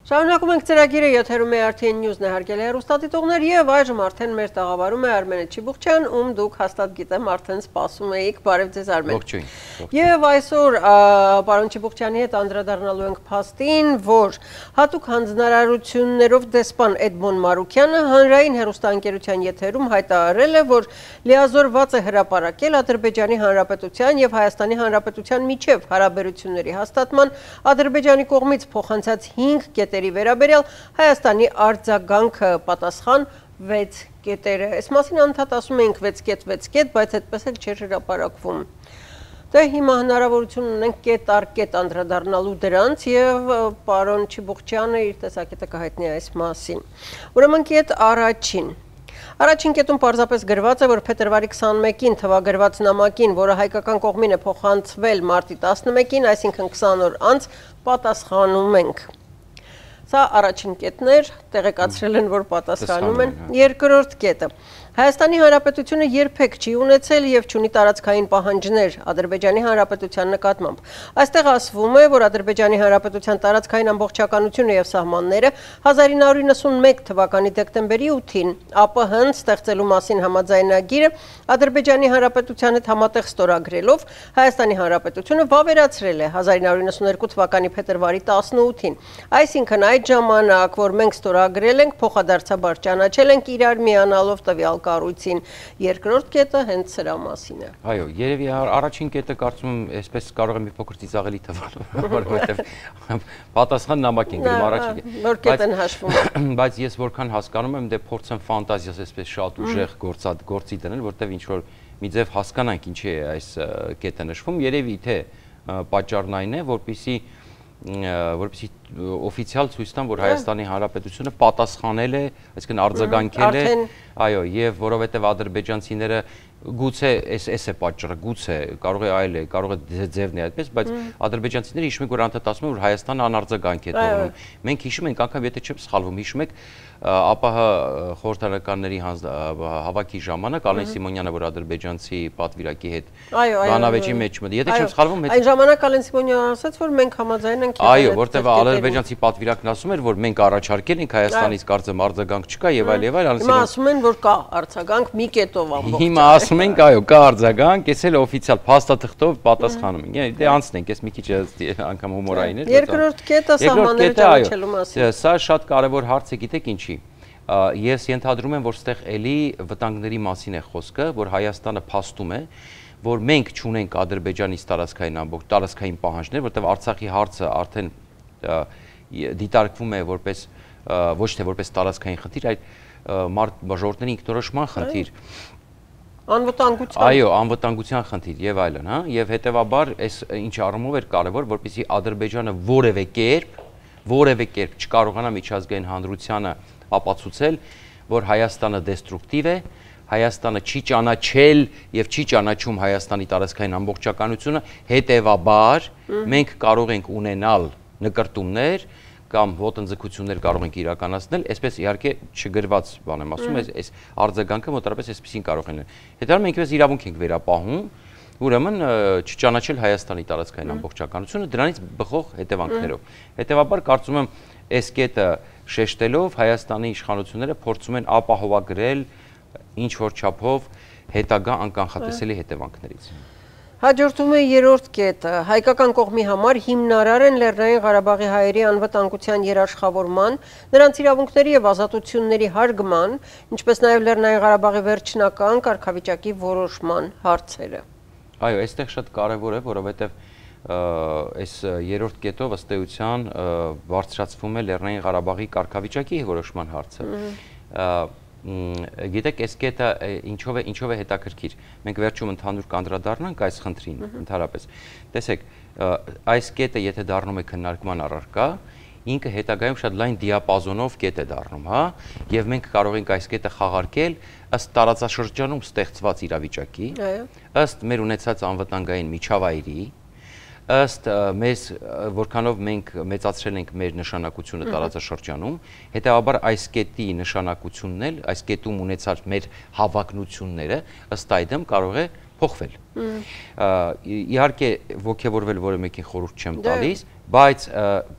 Շարունակում ենք ծրագիրը, եթերում է RTN News-ն է, հարգելի հեռուստադիտողներ, եւ այժմ արդեն մեր տաղավարում է Արմենե Չիբուխչյան, ում դուք հաստատ գիտեմ արդեն սպասում էիք։ Բարև ձեզ, Արմեն։ Ողջույն։ Եվ այսօր պարոն Չիբուխչյանի հետ անդրադառնալու ենք փաստին, որ հատուկ հանձնարարություններով դեսպան Էդմոն Մարուքյանը հանրային հեռուստաընկերության եթերում հայտարարել է, որ լիազորված է հրապարակել Ադրբեջանի Հանրապետության եւ Հայաստանի Հանրապետության միջև հարաբերությունների հաստատման Ադրբեջանի կողմից փոխանցած 5 կետերի վերաբերյալ Հայաստանի արձագանքը պատասխան 6 կետերը։ Այս մասին անդադ ասում էինք 6 կետ, բայց այդպես էլ չէր հրապարակվում։ Դե հիմա հնարավորություն ունենք կետ առ կետ անդրադառնալու դրանց եւ պարոն Չիբուխչյանը իր տեսակետը կհայտնի այս մասին։ Ուրեմն կետ առաջին Առաջին կետում պարզապես գրված է, որ փետրվարի 21-ին թվագրված նամակին, որը հայկական կողմին է փոխանցվել մարտի 11-ին, այսինքն 20 օր անց, պատասխանում ենք։ Սա առաջին կետն էր, տեղեկացրել են, որ պատասխանում են։ Երկրորդ կետը Հայաստանի Հանրապետությունը երբեք չի ունեցել եւ չունի տարածքային պահանջներ Ադրբեջանի Հանրապետության նկատմամբ։ Այստեղ ասվում է, որ Ադրբեջանի Հանրապետության տարածքային ամբողջականությունը եւ սահմանները 1991 թվականի դեկտեմբերի 8-ին ԱՊՀ-ն ստեղծելու մասին համաձայնագիրը Ադրբեջանի Հանրապետության հետ համատեղ ստորագրելով Հայաստանի Հանրապետությունը վավերացրել է 1992 թվականի փետրվարի 18-ին։ Այսինքն այդ ժամանակ, որ մենք ստորագրել ենք, փոխադարձաբար ճանաչել ենք իրար միանալով տվյալ կառույցին։ Երկրորդ կետը հենց սրա մասին է։ Այո, երևի առաջին կետը կարծում եմ, այսպես կարող է մի փոքր ծիծաղելի թվալ, որովհետև պատասխան նամակ են գրում առաջին։ Նոր կետ են հաշվում։ Բայց ես որքան հասկանում եմ, դե փորձեմ ֆանտազիաս այսպես շատ ուժեղ գործի դնել, որտեվ ինչ որ մի ձև հասկանանք ինչի է այս կետը նշվում, երևի թե պատճառն այն է, որպեսզի օֆիցիալ ցույց տան, որ Հայաստանի Հանրապետությունը պատասխանել է, այսինքն արձագանքել է, այո, եւ որովհետեւ ադրբեջանցիները գուցե էս է պատճառը, գուցե կարող է այլ է, կարող է ձևն է այդպես, բայց ադրբեջանցիները հիշում եք, որ անդադ ասում են, որ Հայաստանը անարձագանք է թողնում։ Մենք հիշում ենք, անգամ եթե չեմ սխալվում, հիշում եք ԱՊՀ խորհրդարանականների հավաքի ժամանակ Ալեն Սիմոնյանը, որ ադրբեջանցի պատվիրակի հետ բանավեճի մեջ մտի, եթե չեմ սխալվում, այն ժամանակ Ալեն Սիմոնյանը ասաց, որ մենք համաձայն ենք։ Այո, որտեղ ադրբեջանցի պատվիրակն ասում էր, որ մենք առաջարկել ենք Հայաստանից կարծեմ արձագանք չկա եւ այլ եւ այլ։ Հիմա ասում են, որ կա արձագանք մի կետով ամբողջ։ Հիմա ասում ենք, այո, կա արձագանք, ես էլ օֆիցիալ փաստաթղթով պատասխանում ենք։ Դե անցնենք, ես մի քիչ անգամ հումորային էր։ Երկրորդ կետը սահմանները ճանաչելու մասին։ Սա շատ կարևոր հարց է, գիտեք ինչի։ Ես ենթադրում եմ, որ ստեղ էլի վտանգների մասին է խոսքը, որ Հայաստանը փաստում է, որ մենք չունենք Ադրբեջանից տարածքային պահանջներ, որտեղ Արցախի հարցը արդեն դիտարկվում է որպես ոչ թե որպես տարածքային խնդիր, այլ ժողովրդների ինքնորոշման խնդիր։ Անվտանգության։ Այո, անվտանգության խնդիր եւ այլն, հա, եւ հետեւաբար այս ինչ առումով էր կարեւոր, որպեսզի Ադրբեջանը որևէ կերպ չկարողանա միջազգային հանրությանը ապացուցել, որ Հայաստանը դեստրուկտիվ է, Հայաստանը չի ճանաչել եւ չի ճանաչում Հայաստանի տարածքային ամբողջականությունը, հետեւաբար մենք կարող ենք ունենալ նկրտումներ կամ ոտնձգություններ կարող ենք իրականացնել, այսպես իհարկե չգրված բան եմ ասում, այս արձագանքը մոտավորապես այսպեսին կարող են։ Հետո մենք այս իրավունք ենք վերապահում, ուրեմն չճանաչել Հայաստանի տարածքային ամբողջականությունը դրանից բխող հետևանքներով։ Հետևաբար կարծում եմ այս կետը շեշտելով Հայաստանի իշխանությունները փորձում են ապահովագրել ինչ որ չափով հետագա անկանխատեսելի հետևանքներից։ Հաջորդում է երրորդ կետը։ Հայկական կողմի համար հիմնարար են Լեռնային Ղարաբաղի հայերի անվտանգության երաշխավորման, նրանց իրավունքների եւ ազատությունների հարգման, ինչպես նաեւ Լեռնային Ղարաբաղի վերջնական կարգավիճակի որոշման հարցերը։ Այո, այստեղ շատ կարևոր է, որովհետեւ այս երրորդ կետով ըստ էության բարձրացվում է Լեռնային Ղարաբաղի կարգավիճակի որոշման հարցը։ Գիտեք, այս կետը ինչով է հետաքրքիր։ Մենք վերջում ընդհանուր կանդրադառնանք այս խնդրին, ընդհանրապես։ Տեսեք, այս կետը եթե դառնում է քննարկման առարկա, ինքը հետագայում շատ լայն դիապազոնով կետ է դառնում, հա, եւ մենք կարող ենք այս կետը խաղարկել ըստ տարածաշրջանում ստեղծված իրավիճակի, ըստ մեր ունեցած անվտանգային միջավայրի, ըստ մեզ որքանով մենք մեծացրել ենք մեր նշանակությունը տարածաշրջանում, հետեւաբար այս կետի նշանակությունն էլ, այս կետում ունեցած մեր հավակնությունները ըստ այդմ կարող է փոխվել։ Իհարկե ոգևորվել որը մեկին խորհուրդ չեմ տալիս, բայց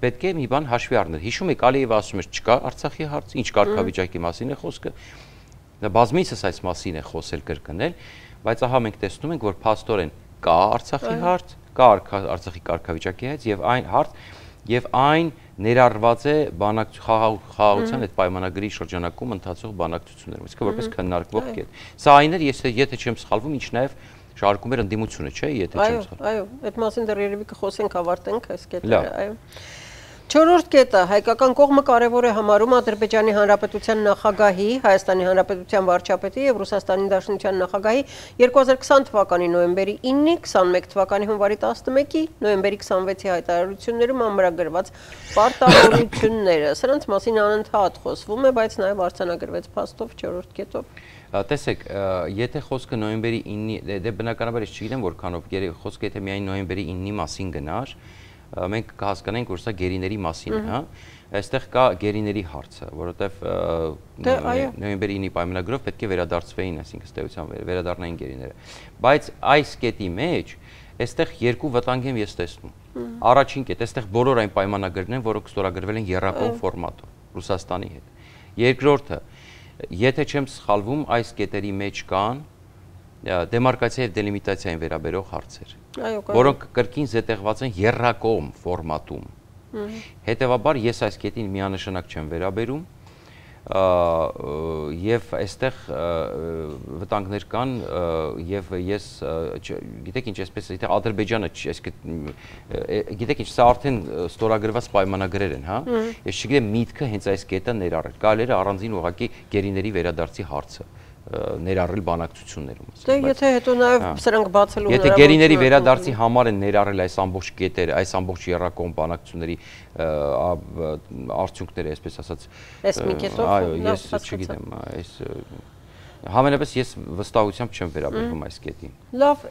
պետք է մի բան հաշվի առնել։ Հիշում եք Ալիևը ասում էր չկա Արցախի հարց, ինչ կարգավիճակի մասին է խոսքը։ Դա բազմիցս այս մասին է խոսել կրկնել, բայց ահա մենք տեսնում ենք, որ փաստորեն կա Արցախի հարց, կա Արցախի կարգավիճակի հետ եւ այն հարց եւ այն ներառված է խաղաղության այդ պայմանագրի շրջանակում ընթացող բանակցություններում, իսկ որպես քննարկվող կետ։ Սա այն էր, եթե չեմ սխալվում, ինչ նաեւ շարքում էր ընդդիմությունը, չէ՞, եթե չեմ սխալվում։ Այո, այդ մասին դեռ երևի կխոսենք, ավարտենք այս կետերը, այո։ Չորրորդ կետը հայկական կողմը կարևոր է համարում Ադրբեջանի Հանրապետության նախագահի, Հայաստանի Հանրապետության վարչապետի եւ Ռուսաստանի Դաշնության նախագահի 2020 թվականի նոյեմբերի 9-ի, 21 թվականի հունվարի 11-ի, նոյեմբերի 26-ի հայտարարություններում ամրագրված պարտավորությունները։ Սրանց մասին անընդհատ խոսվում է, բայց նաեւ արձանագրվեց փաստով չորրորդ կետով։ Տեսեք, եթե խոսքը նոյեմբերի 9-ի, դե բնականաբար ես չգիտեմ որքանով խոսքը եթե միայն նոյեմբերի 9-ի մասին գնար, մենք կհասկանանք, որ սա գերիների մասին է, հա։ Այստեղ կա գերիների հարցը, որովհետև նոյեմբերի 9-ի պայմանագրով պետք է վերադարձվեին, այսինքն ըստ էության վերադառնային գերիները։ Բայց այս կետի մեջ այստեղ երկու վտանգ եմ ես տեսնում։ Առաջին կետ, այստեղ բոլոր այն պայմանագրերն են, որոնք ստորագրվել են եռակողմ ֆորմատով Ռուսաստանի հետ։ Երկրորդը, եթե չեմ սխալվում, այս կետերի մեջ կան դեմարկացիա եւ դելիմիտացիային վերաբերող հարցեր, որոնք կրկին զետեղված են եռակողմ ֆորմատում։ Հետևաբար ես այս կետին միանշանակ չեմ վերաբերում եւ այստեղ վտանգներ կան եւ ես գիտեք ինչ այսպես եթե Ադրբեջանը գիտեք ինչ սա արդեն ստորագրված պայմանագրեր են, հա։ Ես չգիտեմ միտքը հենց այս կետը ներառել։ Կարելի է առանձին ուղղակի գերիների վերադարձի հարցը ներառել բանակցություններում։ Դե եթե հետո նաև սրանք բացելու Եթե գերիների վերադարձի համար են ներառել այս ամբողջ կետերը, այս ամբողջ եռակողմ բանակցությունների արդյունքները, այսպես ասած, այս մի կետով, այո, ես չգիտեմ, այս Համենայնպես ես վստահությամբ չեմ վերաբերվում այս կետին։ Լավ,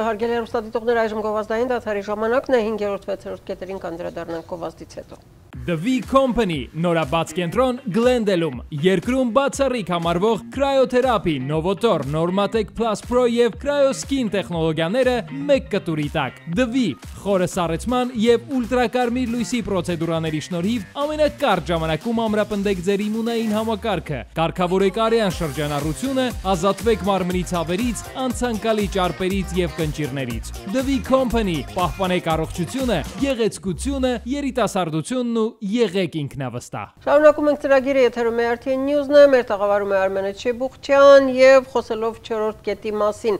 հարգելի հեռուստադիտողներ, այժմ գովազդային դադարի ժամանակն է 5-րդ 6-րդ կետերին կանդրադառնանք գովազդից հետո։ The V Company նորաբաց կենտրոն Գլենդելում երկրում բացառիկ համարվող կրայոթերապի, Novotor, Normatec Plus Pro եւ Cryoskin տեխնոլոգիաները մեկ կտուրի տակ։ The V խորը սառեցման եւ ուլտրակարմիր լույսի պրոցեդուրաների շնորհիվ ամենակարճ ժամանակում ամրապնդեք ձեր իմունային համակարգը, կարգավորեք արյան շրջանառությունը, ազատվեք մարմնի ցավերից, անցանկալի ճարպերից եւ կնճիռներից։ The V Company պահպանեք առողջությունը, գեղեցկությունը, երիտասարդությունն ու եղեք ինքնավստահ։ Շարունակում ենք ծրագիրը, եթերում է RTN News-ն է, մեր տաղավարում է Արմենե Չեբուխչյան եւ խոսելով 4-րդ կետի մասին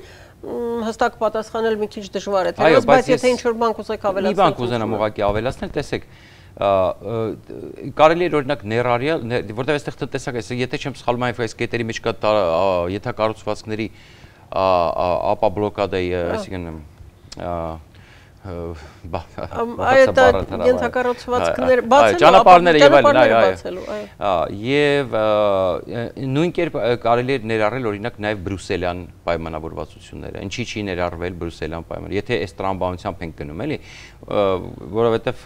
հստակ պատասխանել մի քիչ դժվար է, թեև բայց եթե ինչ-որ բան կուզեք ավելացնել։ Մի բան կուզենամ ուղղակի ավելացնել, տեսեք, կարելի է օրինակ ներառյալ, որտեղ այստեղ տնտեսական, եթե չեմ սխալվում, այս կետերի մեջ կա ենթակառուցվածքների ապաբլոկադայի, այսինքն այդ ենթակառուցվածքները ճանապարհները եւ այլն, եւ նույն կերպ կարելի է ներառել օրինակ նաեւ բրյուսելյան պայմանավորվածությունները։ Ինչի՞ չի ներառվել բրյուսելյան պայմանը, եթե այս տրամաբանությամբ ենք գնում, էլի, որովհետեւ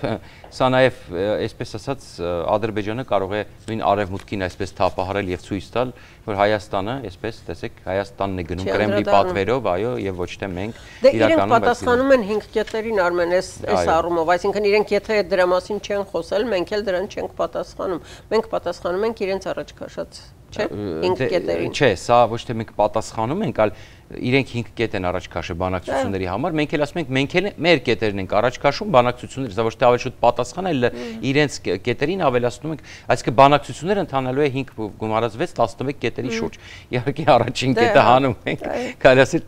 սա նաեւ այսպես ասած Ադրբեջանը կարող է նույն արևմուտքին այսպես թափահարել եւ ցույց տալ, որ Հայաստանը, այսպես տեսեք, Հայաստանն է գնում Կրեմլի պատվերով, այո, եւ ոչ թե մենք իրականում պատասխանում են 5 կետերին Արմեն, այս առումով, այսինքն իրենք եթե դրա մասին չեն խոսել, մենք էլ դրան չենք պատասխանում։ Մենք պատասխանում ենք իրենց առաջ քաշած, չէ՞, 5 կետերին։ Չէ, սա ոչ թե մենք պատասխանում ենք, այլ իրենք 5 կետ են առաջ քաշել բանակցությունների համար, մենք էլ ասում ենք, մենք էլ մեր կետերն ենք առաջ քաշում բանակցությունների, սա ոչ թե ավելի շուտ պատասխան, այլ իրենց կետերին ավելացնում ենք, այսինքն բանակցությունները ընթանալու է 5 գումարած 6 11 կետերի շուրջ։ Իհարկե առաջին կետը հանում ենք, կարելի ասել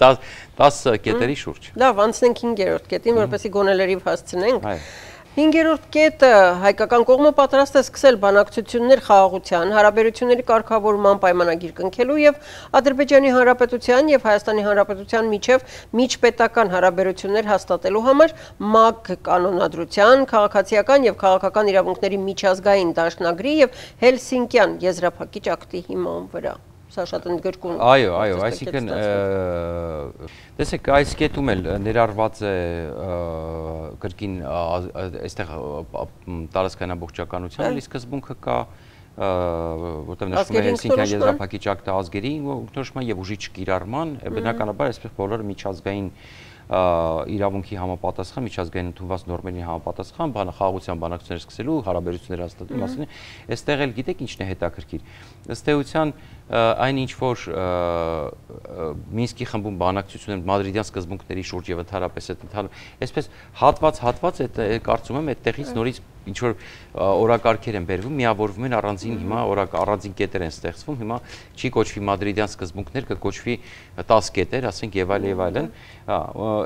10 կետերի շուրջ։ Լավ, անցնենք 5-րդ կետին, որպեսզի գոնելերիվ հասցնենք։ 5-րդ կետը հայկական կողմը պատրաստ է սկսել բանակցություններ խաղաղության, հարաբերությունների կարգավորման պայմանագիր կնքելու եւ Ադրբեջանի Հանրապետության եւ Հայաստանի Հանրապետության միջև միջպետական հարաբերություններ հաստատելու համար ՄԱԳ կանոնադրության, քաղաքացիական եւ քաղաքական իրավունքների միջազգային դաշնագրի եւ Հելսինկյան եզրափակիչ ակտի հիման վրա։ Սա շատ ընդգրկուն։ Այո, այսինքն տեսեք, այս կետում էլ ներառված է կրկին այստեղ տարածքային ամբողջականության սկզբունքը կա, որտեղ նշվում է Հելսինկյան եզրափակիչ ակտը ազգերի ինքնորոշման եւ ուժի չկիրառման, բնականաբար այսպես բոլորը միջազգային իրավունքի համապատասխան, միջազգային ընդունված նորմերին համապատասխան, խաղաղության բանակցություններ սկսելու, հարաբերություններ հաստատելու մասին, այստեղ էլ գիտեք ինչն է հետաքրքիր։ Ըստ էության այն ինչ որ Մինսկի խմբում բանակցություններ մադրիդյան սկզբունքների շուրջ եւ ընդհանրապես այդ այսպես հատված այդ կարծում եմ այդտեղից նորից ինչ որ օրակարգեր են բերվում, միավորվում են առանձին հիմա առանձին կետեր են ստեղծվում, հիմա չի կոչվի մադրիդյան սկզբունքներ, կկոչվի 10 կետեր, ասենք եւ այլն,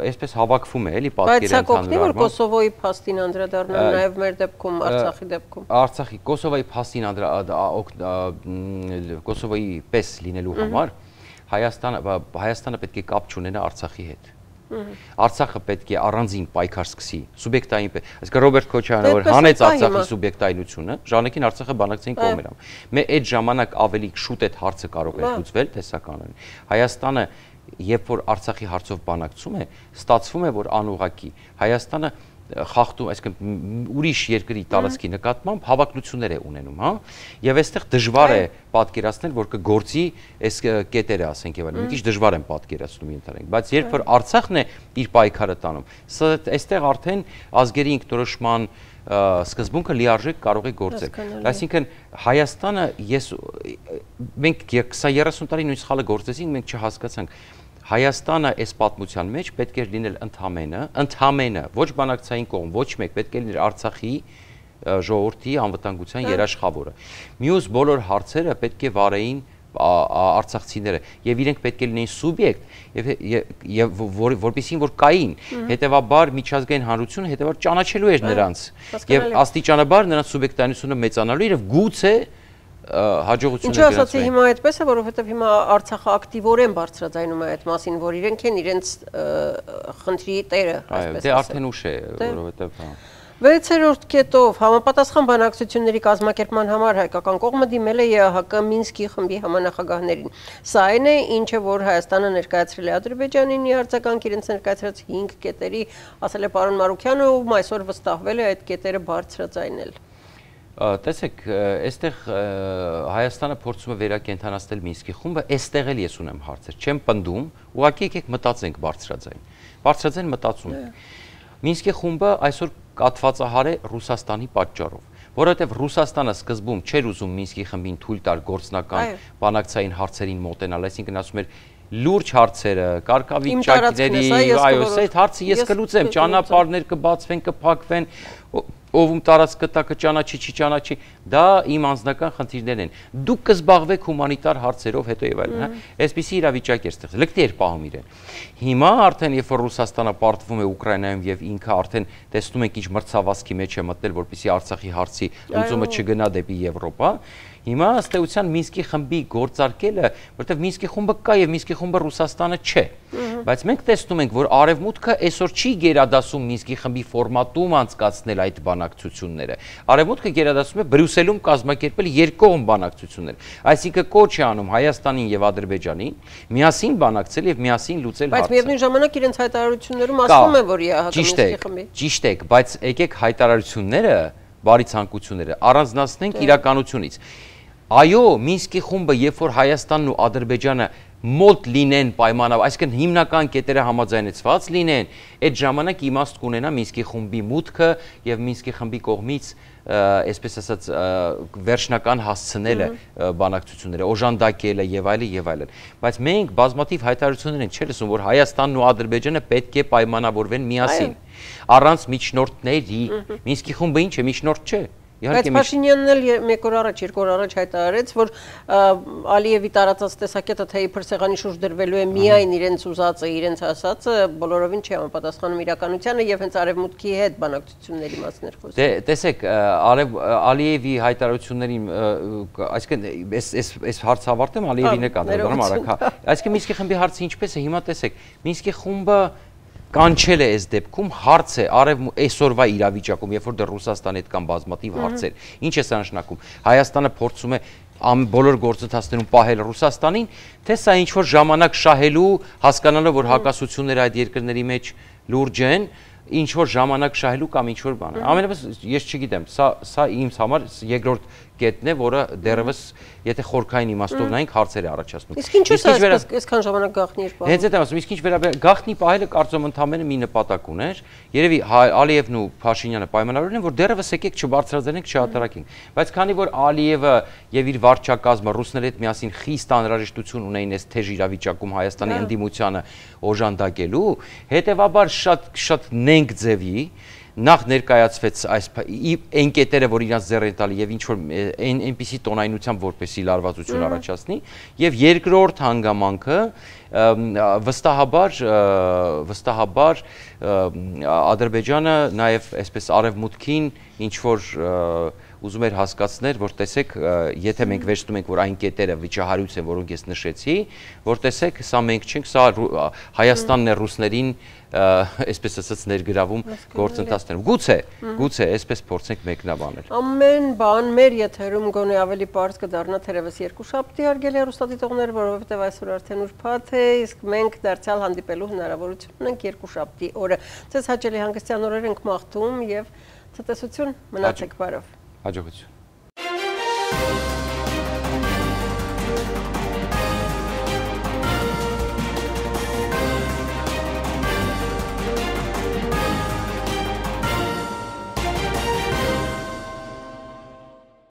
այսպես հավաքվում է, էլի պատկերը ընդհանրապես։ Բայց սա կօգնի որ Կոսովոյի փաստին անդրադառնալ նաեւ մեր դեպքում, Արցախի դեպքում։ Արցախի, Կոսովոյի փաստին Կոսովոյի պես լինելու համար Հայաստանը պետք է կապ չունենա Արցախի հետ։ Արցախը պետք է առանձին պայքար սկսի, սուբյեկտային, այսինքն Ռոբերտ Քոչարյանը որ հանեց Արցախի սուբյեկտայնությունը, ժանեկին Արցախը բանակցային կողմեր ամ։ Մեր այդ ժամանակ ավելի շուտ այդ հարցը կարող է լուծվել տեսականորեն։ Հայաստանը, երբ որ Արցախի հարցով բանակցում է, ստացվում է, որ անուղղակի Հայաստանը խախտում, այսինքն ուրիշ երկրի տարածքի նկատմամբ հավակնություններ է ունենում, հա, եւ այստեղ դժվար է պատկերացնել, որ կգործի այս կետերը, ասենք եւ այլն, մի քիչ դժվար են պատկերացնում ընդհանրենք, բայց երբ որ Արցախն է իր պայքարը տանում, այստեղ արդեն ազգերի ինքնորոշման սկզբունքը լիարժեք կարող է գործել։ Այսինքն Հայաստանը մենք 20-30 տարի նույն սխալը գործեցինք, մենք չհասկացանք Հայաստանը այս պատմության մեջ պետք է լինել ընդհանրապես ոչ բանակցային կողմ, ոչ մեկ պետք է լինել Արցախի ժողովրդի անվտանգության երաշխավորը։ Մյուս բոլոր հարցերը պետք է վարեին արցախցիները եւ իրենք պետք է լինեին սուբյեկտ եւ որպեսզի որ կային, հետեւաբար միջազգային հանրությունը հետեւաբար ճանաչելու էր նրանց եւ աստիճանաբար նրանց սուբյեկտայնությունը մեծանալու եւ գուցե հաջողություններ Ինչու ասացի հիմա այդպես է, որովհետև հիմա Արցախը ակտիվորեն բարձրաձայնում է այդ մասին, որ իրենք են իրենց խնդրի տերը, այսպես ասած։ Դե արդեն ուշ է, որովհետև 6-րդ կետով համապատասխան բանակցությունների կազմակերպման համար հայկական կողմը դիմել է ԵԱՀԿ Մինսկի խմբի համանախագահներին։ Սա այն է, ինչը որ Հայաստանը ներկայացրել է Ադրբեջանին իր արձագանք իրենց ներկայացրած 5 կետերի, ասել է պարոն Մարուքյանը, ում այսօր վստահվել է այդ կետերը բարձրաձայնել։ Տեսեք, այստեղ Հայաստանը փորձում է վերակենդանացնել Մինսկի խումբը, այստեղ էլ ես ունեմ հարցեր, չեմ պնդում, ուղղակի եկեք մտածենք բարձրաձայն։ Բարձրաձայն մտածում ենք։ Մինսկի խումբը այսօր կաթվածահար է Ռուսաստանի պատճառով, որովհետև Ռուսաստանը սկզբում չէր ուզում Մինսկի խմբին թույլ տալ գործնական բանակցային հարցերին մոտենալ, այսինքն ասում էր լուրջ հարցերը, կարգավիճակների, այո, այդ հարցը ես կլուծեմ, ճանապարհներ կբացվեն, կփակվեն, ով տարածք կտա կճանաչի, չի ճանաչի, դա իմ անձնական խնդիրներն են։ Դուք կզբաղվեք հումանիտար հարցերով հետո եւ այլն, հա։ Այսպիսի իրավիճակ է ստեղծվել։ Լկտի էր պահում իրեն։ Հիմա արդեն երբ որ Ռուսաստանը պարտվում է Ուկրաինայում եւ ինքը արդեն տեսնում ենք ինչ մրցավազքի մեջ է մտնել, որպեսզի Արցախի հարցի լուծումը չգնա դեպի Եվրոպա, հիմա ըստ էության Մինսկի խմբի գործարկելը, որովհետև Մինսկի խումբը կա եւ Մինսկի խումբը Ռուսաստանը չէ, բայց մենք տեսնում ենք, որ Արևմուտքը այսօր չի գերադասում Մինսկի խմբի ֆորմատում անցկացնել այդ բանակցությունները։ Արևմուտքը գերադասում է Բրյուսելում կազմակերպել երկկողմ բանակցություններ, այսինքն կոչ է անում Հայաստանին եւ Ադրբեջանին միասին բանակցել եւ միասին լուծել հարցը։ Բայց միևնույն ժամանակ իրենց հայտարարություններում ասվում է, որ ԵԱՀԿ Մինսկի խմբի։ Ճիշտ է, բայց եկեք հայտարարությունները բարի ցանկությունները առանձնացնենք իրականությունից։ Այո, Մինսկի խումբը, երբ որ Հայաստանն ու Ադրբեջանը մոտ լինեն պայմանով, այսինքն հիմնական կետերը համաձայնեցված լինեն, այդ ժամանակ իմաստ կունենա Մինսկի խումբի մուտքը եւ Մինսկի խմբի կողմից, այսպես ասած, վերջնական հասցնելը բանակցությունները, օժանդակելը եւ այլն։ Բայց մենք բազմաթիվ հայտարարություններ ենք չէ՞ լսում, որ Հայաստանն ու Ադրբեջանը պետք է պայմանավորվեն միասին, առանց միջնորդների։ Մինսկի խումբը ինչ է, միջնորդ չէ։ Բայց Փաշինյանն էլ մեկ օր առաջ, երկու օր առաջ հայտարարեց, որ Ալիևի տարածած տեսակետը թե իբր սեղանի շուրջ դրվելու է միայն իրենց ուզածը, իրենց ասածը, բոլորովին չի համապատասխանում իրականությանը եւ հենց Արևմուտքի հետ բանակցությունների մասն էր խոսքը։ Դե տեսեք, Ալիևի հայտարարություններին, այսինքն այս հարցը ավարտեմ, Ալիևին է կանդրադառնում արագ, հա։ Այսինքն Մինսկի խմբի հարցը ինչպես է, հիմա տեսեք, Մինսկի խումբը կանչել է այս դեպքում հարց է այսօրվա իրավիճակում, երբ որ դեռ Ռուսաստանի հետ կան բազմաթիվ հարցեր, ինչ է սա նշանակում, Հայաստանը փորձում է բոլոր գործընթացներում պահել Ռուսաստանին, թե սա ինչ որ ժամանակ շահելու, հասկանալով որ հակասությունները այդ երկրների մեջ լուրջ են, ինչ որ ժամանակ շահելու կամ ինչ որ բան։ Ամենապես ես չգիտեմ, սա ինձ համար երկրորդ կետն է, որը դեռևս եթե խորքային իմաստով նայենք հարցեր է առաջացնում։ Իսկ ինչու՞ է այսքան ժամանակ գաղտնի էր պահում։ Հենց այդ եմ ասում, իսկ ինչ վերաբերյալ գաղտնի պահելը կարծում ընդամենը մի նպատակ ուներ։ Երևի Ալիևն ու Փաշինյանը պայմանավորել են, որ դեռևս եկեք չբարձրաձայնենք, չհատարակենք։ Բայց քանի որ Ալիևը եւ իր վարչակազմը ռուսների հետ միասին խիստ անհրաժեշտություն ունեին այս թեժ իրավիճակում Հայաստանի ընդդիմությանը օժանդակելու, հետեւաբար շատ նենգ ձևի նախ ներկայացվեց այս այն կետերը, որ իրանց ձեռ են տալի եւ ինչ որ այնպիսի տոնայնությամբ որպեսի լարվածություն առաջացնի եւ երկրորդ հանգամանքը վստահաբար Ադրբեջանը նաեւ այսպես արևմուտքին ինչ որ ուզում էր հասկացնել, որ տեսեք, եթե մենք վերցնում ենք, որ այն կետերը վիճահարույց են, որոնք ես նշեցի, որ տեսեք, սա մենք չենք, սա Հայաստանն է ռուսներին այսպես ասած ներգրավում գործընթացներում։ Գուցե այսպես փորձենք մեկնաբանել։ Ամեն բան մեր եթերում գոնե ավելի պարզ կդառնա թերևս երկուշաբթի հարգելի հեռուստադիտողներ, որովհետև այսօր արդեն ուրբաթ է, իսկ մենք դարձյալ հանդիպելու հնարավորություն ունենք երկուշաբթի օրը։ Ձեզ հաճելի հանգստյան օրեր ենք մաղթում եւ ցտեսություն, մնացեք բարով։ Հաջողություն։